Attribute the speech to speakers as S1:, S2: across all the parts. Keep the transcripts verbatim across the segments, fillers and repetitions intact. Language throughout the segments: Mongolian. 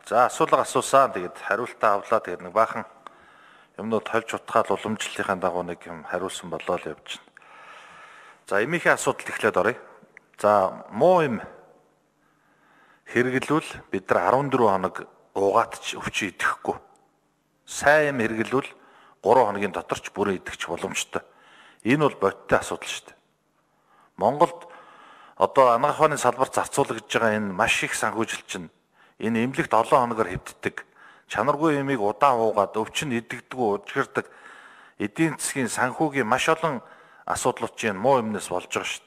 S1: За асуулга асуусан. Тэгээд хариултаа авлаа. Тэгээд нэг баахан юмнууд тольж утгаал уламжлалынхаа дагуу нэг юм хариулсан болоо л явж байна. За эмийнхээ асуудалд эхлээд оръё. За муу юм хэрэглүүл бид нар арван дөрвөн хоног угаат ч өвчин идэхгүй. Сайн юм хэрэглүүл гурван хоногийн дотор ч бүрэн идэх ч боломжтой. Энэ бол бодиттой асуудал шүү дээ. Монголд одоо анагаах ухааны салбарт зарцуулагдж байгаа энэ маш их санхүүжилт чинь энэ эмнэлэгт олон хоногор хэвддэг. Чанаргүй эмийг удаан уугаад өвчин идэгдэггүй удирдах эдийн засгийн санхүүгийн маш олон асуудлууд чинь муу юмнаас болж байгаа шүү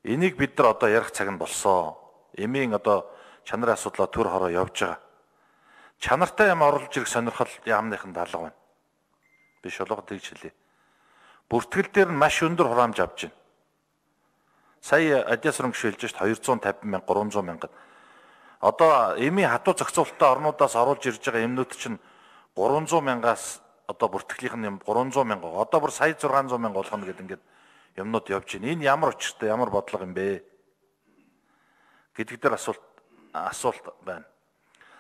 S1: дээ. Энийг бид нар одоо ярих цаг нь болсон. Эмийн одоо чанарын асуудлаа төр хороо явж байгаа. Чанартай юм оруулж ирэх сонирхол яамныхын даалга байна. Биш болгоод тэгж хэлье. Бүртгэл дээр нь маш өндөр хураамж авч байна. Сая адясрын гişэлж шít хоёр зуун тавин мянга гурван зуун мянга. Одоо эмийн хатуу зохицуулалттай орнуудаас оруулж ирж байгаа эмнүүд чинь гурван зуун мянгаас одоо бүртгэлийнх нь юм гурван зуун мянга. Одоо бүр сая зургаан зуун мянга болгоно гэдэг ингээд юмнууд явж байна. Энэ ямар учиртай, ямар бодлого юм бэ? Гэдэг дээр асуулт асуулт байна.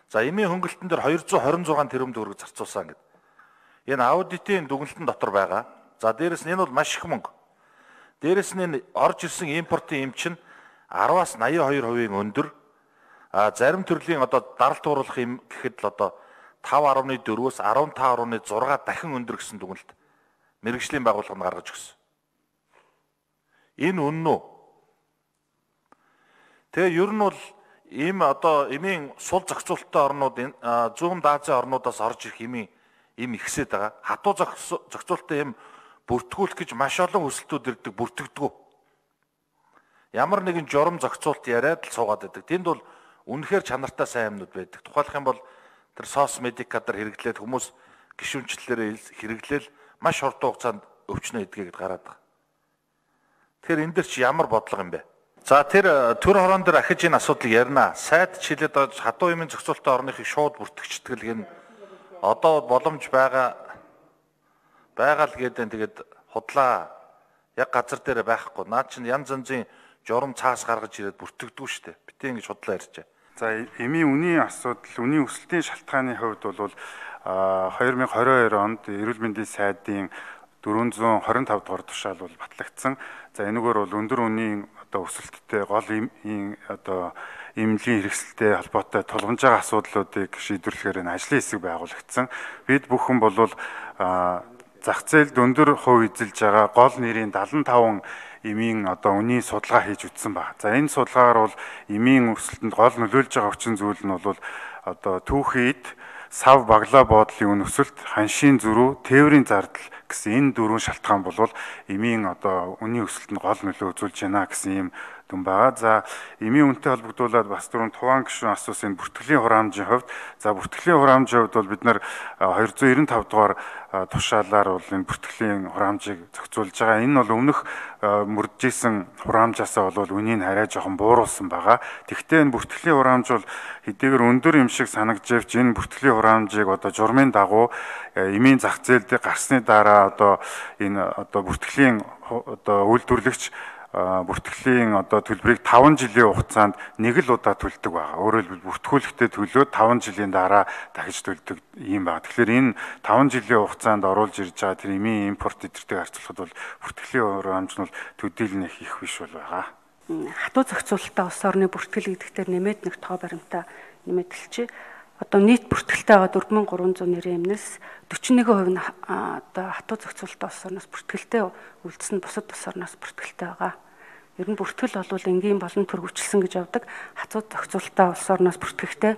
S1: За эмийн хөнгөлтөн дээр хоёр зуун хорин зургаан тэрбум төгрөг зарцуулсан гэдэг. Энэ аудитын дүгнэлтэн дотор байгаа. За дээрэс нь энэ бол маш их мөнгө. Дээрэс нь орж ирсэн импортын эм чинь араваас наяа хоёр хувийн өндөр. А зарим төрлийн одоо дарал тууруулах юм гэхэд л одоо тав арваны дөрвөөс арван тав арваны зургаа дахин өндөр гэсэн дүгнэлт мэргэжлийн байгууллага нь гаргаж өгсөн. Энэ үнэн үү? Тэгээ ер нь бол ийм одоо эмийн сул зохицуулалттай орнууд зүүн Азийн орнуудаас орж ирэх эмийн эм ихсээд байгаа. Хатуу зохицуулалттай эм бүртгүүлэх гэж маш олон өсөлтүүд ирдэг, бүртгэдэггүй. Ямар нэгэн журам зохицуулалт яриад л суугаад байдаг. Тэнд бол үнэхээр чанартай сайн юмнууд байдаг. Тухайлх юм бол тэр сос медикатар хэрэглээд хүмүүс гишүүнчлэлээр хэрэглээл маш хурдан хугацаанд өвчнөө идгээд гараад байгаа. Тэгэхээр энэ дэр чи ямар бодлого юм бэ? За тэр төр хорон дээр ахиж энэ асуудлыг ярина. Сайд чилээд байгаа хатуу эмийн зохицуулалттай орныхыг шууд бүртгэгчдэг энэ одоо боломж байгаа байгаа л гэдэг. Тэгээд худлаа яг газар дээр байхгүй. Наад чинь янз янзын журам цаас гаргаж ирээд бүртгэдэггүй шүү дээ. Битээ ингэж худлаа ярьжээ.
S2: За эмийн үнийн асуудал, үнийн өсөлтийн шалтгааны хувьд бол хоёр мянга хорин хоёр онд эрүүл мэндийн сайдын дөрвөн зуун хорин тав дугаар тушаал бол батлагдсан. За энэгээр бол өндөр үнийн одоо өсөлттэй гол эмийн одоо эмнэлгийн хэрэгсэлтэй холбоотой тулгамж байгаа асуудлуудыг шийдвэрлэхээр энэ ажлын хэсэг байгуулагдсан. Бид бүхэн бол зах зээлд өндөр хувь эзэлж байгаа гол нэрийн дадлан таван эмийн одоо үнийн судалгаа хийж үтсэн байна. За энэ судалгаагаар бол эмийн өсөлтөнд гол нөлөөлж байгаа хүчин зүйл нь бол одоо түүхийд сав баглаа боодлын үн өсөлт, ханшийн зөрүү, тээврийн зардал гэсэн энэ дөрвөн шалтгаан бол эмийн одоо үнийн өсөлтөнд гол нөлөө үзүүлж байна гэсэн юм дүн байгаа. За эмийн үнэтэй холбогдуулаад бас түрүүн Туван гишүүн асуусан бүртгэлийн хураамжийн хувьд за бүртгэлийн хураамжийн хувьд бол бид нар хоёр зуун девяносто таван дугаар тушаалаар бол энэ бүртгэлийн хураамжийг зохицуулж байгаа. Энэ бол өмнөх мөрдөжсэн хураамжаасаа бол үнийг арай жоохон бууруулсан байгаа. Тэгвэл энэ бүртгэлийн хураамж бол хэдийгээр өндөр юм шиг санагдж энэ бүртгэлийн хураамжийг одоо журмын дагуу эмийн зах зээлд гарсны дараа одоо энэ одоо бүртгэлийн одоо үйлдвэрлэгч бүртгэлийн одоо төлбөрийг таван жилийн хугацаанд нэг л удаа төлдөг байгаа. Өөрөөр хэлбэл бүртгүүлэхдээ төлөөд таван жилийн дараа дахиж төлдөг юм байна. Тэгэхээр энэ таван жилийн хугацаанд оруулж ирж байгаа тэр эмийн импорт эдэртэй харьцуулахад бол бүртгэлийн хураамж нь бол төдийлнэх их биш бол байгаа.
S3: Хатуу зохицуулалттай улс орны бүртгэл гэдэгтэр нэмээд нэг тоо баримтаа нэмэдэлчээ. Одоо нийт бүртгэлтэй байгаа дөрвөн мянган гурван зуун нэрийн эмнээс дөрвөн нэг хувь нь одоо хатуу зохицуулалттай улс орноос бүртгэлтэй үлдсэн бусад улс орноос бүртгэлтэй байгаа. Ер нь бүртгэл бол энгийн болон төрөвчлсөн гэж явдаг. Хатуу зохицуулалттай улс орноос бүртгэхдээ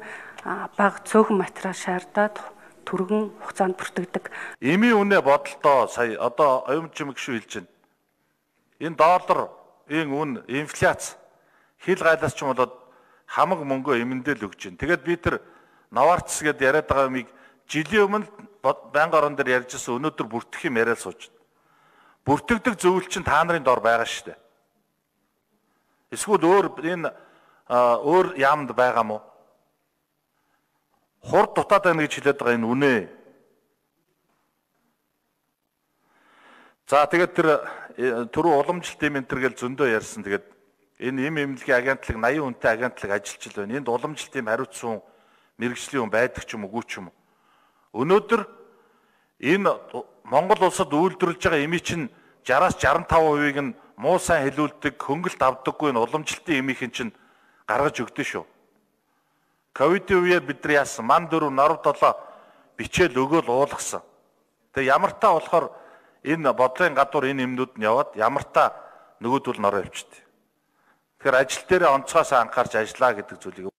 S3: бага цөөхөн материал шаардаад түргэн хугацаанд бүртгэдэг.
S1: Эмийн үнэ бодолтоо сая одоо оюун чимэг шүү хэлж байна. Энэ долларын үн инфляц хил гайлаас ч юм болоод хамаг мөнгөө эмэндээ л өгч байна. Тэгээд би тэр Новартс гэдээ яриад байгаа юмыг жилийн өмнө байнгын орон дээр ярьжсэн өнөөдөр бүртгэх юм яриад сууж байна. Бүртгэдэг зөвлөл чинь та нарын дор байгаа шүү дээ. Эсвэл өөр энэ өөр яамд байгаа мó? Хурд дутаад байна гэж хэлээд байгаа энэ үнэ. За тэгээд тэр түрүү уламжлалт юм энэ төр гэл зөндөө ярьсан. Тэгээд Энэ эм эмнэлгийн агентлаг наян хүнтэй агентлаг ажиллаж байна. Энд уламжлалтын хариуцсан мэрэгжлийн хүн байдаг ч юм уу, үгүй ч юм уу. Өнөөдөр энэ Монгол улсад үйлдвэрлэж байгаа эми чинь шараас шаран таван хувийг нь муу сайн хэлүүлдэг, хөнгөлт авдаггүй нь уламжлалтын эмийн чинь гаргаж өгдөө шүү. Ковидын үеэр бид нар яасан? Ман дөрөв норв долоо бичээл өгөөл уулгасан. Тэгээ ямар та болохоор энэ бодлогын гадуур энэ эмнүүд нь яваад ямар та нөгөөдөл нороо явчихдаг. Тэгэхээр ажил дээр онцгоос анхаарч ажиллаа гэдэг зүйлийг